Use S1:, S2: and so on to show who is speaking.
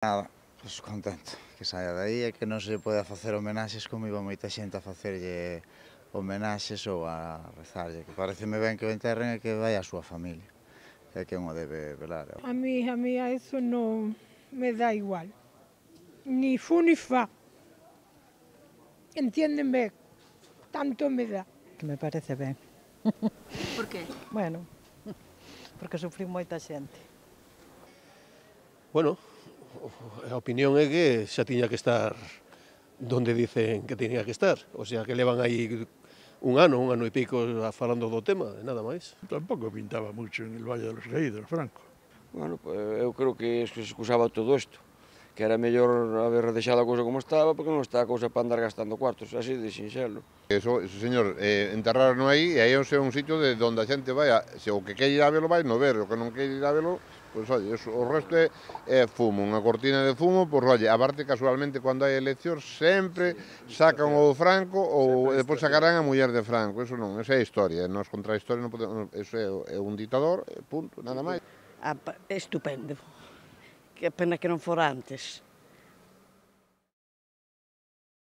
S1: Nada, pois contento que saia de aí e que non se poida facer homenaxes como iba moita xente a facerlle homenaxes ou a rezarlle, que pareceme ben que o enterren e que vai a súa familia, que é quen o debe velar.
S2: A mí a eso no me da igual, ni fu ni fa, entiéndeme, tanto me dá.
S3: Que me parece ben.
S4: Por qué?
S3: Bueno, porque sufriu moita xente.
S5: Bueno, a opinión é que xa tiña que estar donde dicen que tiña que estar. O sea, que levan aí un ano e pico falando do tema, e nada máis.
S6: Tampouco pintaba mucho en el Valle de los Caídos, Franco.
S7: Bueno, pues eu creo que se excusaba todo isto, que era mellor haber deixado a cousa como estaba, porque non está a cousa para andar gastando cuartos, así de sinxelo.
S8: Eso señor, enterraron aí, e aí é un sitio de onde a xente vai, se o que quer ir a velo vai no ver, o que non quer ir a velo, pois, oye, o resto é fumo, unha cortina de fumo, pois, oye, aparte, casualmente, cando hai eleccións, sempre sacan o Franco ou depois sacarán a muller de Franco, eso non, esa é a historia, nós contra a historia non podemos, eso é un ditador, punto, nada máis.
S9: Estupendo, que pena que non fora antes.